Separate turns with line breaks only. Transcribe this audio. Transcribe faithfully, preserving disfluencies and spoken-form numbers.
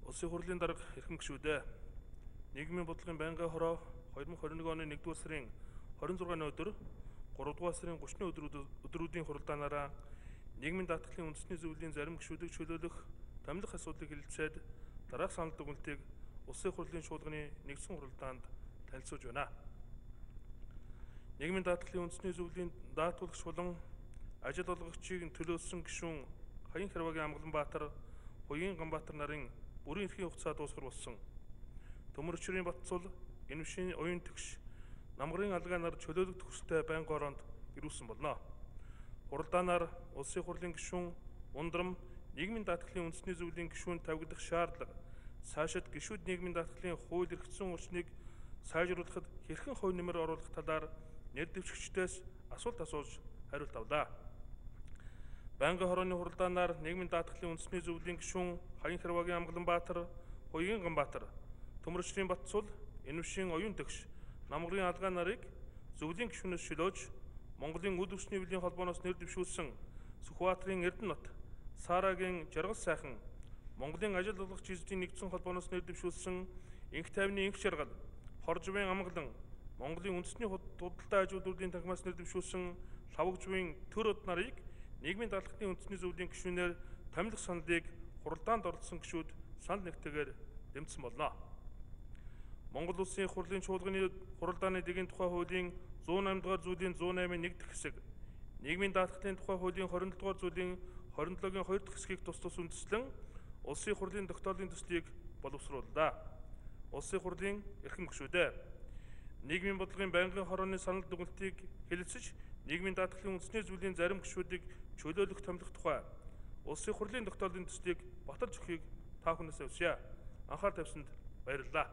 Улсын хурлын дарга эрхэм гишүүдээ нийгмийн бодлогын байнгын хороо two thousand twenty-one оны нэгдүгээр сарын twenty-six-ны өдөр гуравдугаар сарын thirty-ны өдрүүдийн хуралдаанаараа нийгмийн даатгалын үндэсний зөвлөлийн зарим гишүүдийг чөлөөлөх томилох асуудлыг хэлэлцээд дараах санал дүгнэлтийг улсын хурлын шуулганы нэгдсэн хуралдаанд танилцуулж байна. Нийгмийн даатгалын үндэсний зөвлөлийн даатгуулагч болон ажил олгогчийг төлөөлсөн гишүүн Хаян Хэрвагийн Амгаланбаатар, Хуяин Ганбаатар нарын бүрийн эрхийн хугацаа дуусгар болсон. Төмөр өчрийн Батцул, Энэвшин оюун тэгш, Намгарын алгаа нар чөлөөлөх төгсөлтэй байнгын ороонд ирүүлсэн болно. Хуралдаанаар улсын хурлын гишүүн Ундрам нийгмийн даатгалын үндэсний зөвлөлийн гишүүнд тавигдах шаардлага, цаашид гишүүд нийгмийн даатгалын хууль эрх зүйн орчныг сайжруулахад хэрхэн хувь нэмэр оруулах талаар нэр дэвшигчдээс асуулт асууж хариулт авлаа. Байнгын хорооны хуралдаанаар нийгмийн даатгалын үндэсний зөвлөлийн гишүүн Хаян Хэрвагийн Амгаланбаатар, Хуяин Ганбаатар, Төмөр өчрийн Батцул, Энэвшин оюун тэгш, Намгарын алгаа нарыг зөвлөлийн гишүүнээс шилөөж Монголын үд өсний нэвлийн холбооноос нэр дэвшүүлсэн Сүхбаатарын Эрдэнэт, Саарагийн Жаргал сайхан, Монголын ажил олгогч эзэдийн нэгдсэн холбооноос нэр дэвшүүлсэн Инх тайвны Инх Жаргал, Хоржвын Амгалан, Монголын үндэсний худалдаа ажилтнуудын танхимаас нэр дэвшүүлсэн Лавгжвын Төр од нарыг нийгмийн даатгалын үндэсний зөвлөлийн гишүүнээр томилох саналыг хуралдаанд оролцсон гишүүд санал нэгтэйгээр дэмжсэн болно. Монгол Улсын хурлын чуулганы хуралдааны дэгийн тухай хуулийн one oh eight дугаар зүйлийн one oh eight-ийн нэг дахь хэсэг, нийгмийн даатгалын тухай хуулийн twenty-seven дугаар зүйлийн twenty-seven-ийн two дахь хэсгийг тус тус үндэслэн улсын хурлын тогтоолын төслийг боловсрууллаа. Улсын хурлын эрхэм гишүүдээ нийгмийн бодлогын байнгын хорооны санал дүгнэлтийг хэлэлцэж нийгмийн даатгалын үндэсний зөвлөлийн зарим гишүүдийг чөлөөлөх томилох тухай улсын хурлын тогтоолын төслийг баталж өгөхийг та бүхнээс хүсье. Анхаар тавьсанд баярлалаа.